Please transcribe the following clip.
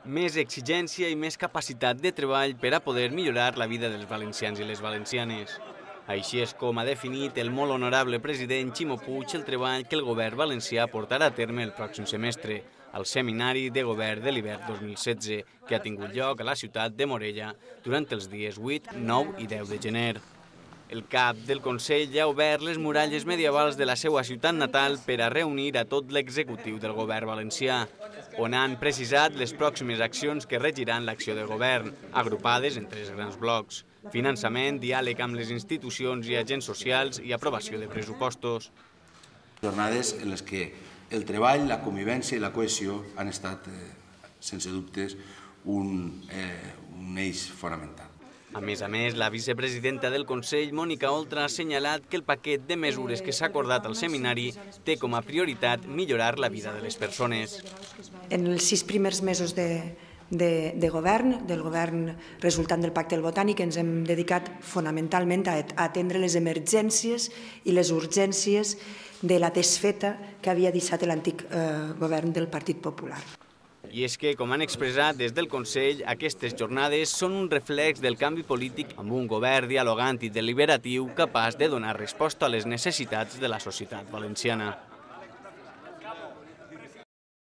Més exigència i més capacitat de treball per a poder millorar la vida dels valencians i les valencianes. Així és com ha definit el molt honorable president Ximo Puig el treball que el govern valencià portarà a terme el pròxim semestre, al Seminari de Govern de l'hivern 2016, que ha tingut lloc a la ciutat de Morella durant els dies 8, 9 i 10 de gener. El cap del Consell ja ha obert les muralles medievals de la seva ciutat natal per a reunir a tot l'executiu del govern valencià, on han precisat les pròximes accions que regiran l'acció del govern, agrupades en 3 grans blocs: finançament, diàleg amb les institucions i agents socials i aprovació de pressupostos. Jornades en les que el treball, la convivència i la cohesió han estat, sense dubtes, un eix fonamental. A més, la vicepresidenta del Consell, Mònica Oltra, ha assenyalat que el paquet de mesures que s'ha acordat al seminari té com a prioritat millorar la vida de les persones. En els 6 primers mesos del govern resultant del Pacte del Botànic, ens hem dedicat fonamentalment a atendre les emergències i les urgències de la desfeta que havia deixat l'antic govern del Partit Popular. I és que, com han expressat des del Consell, aquestes jornades són un reflex del canvi polític amb un govern dialogant i deliberatiu capaç de donar resposta a les necessitats de la societat valenciana.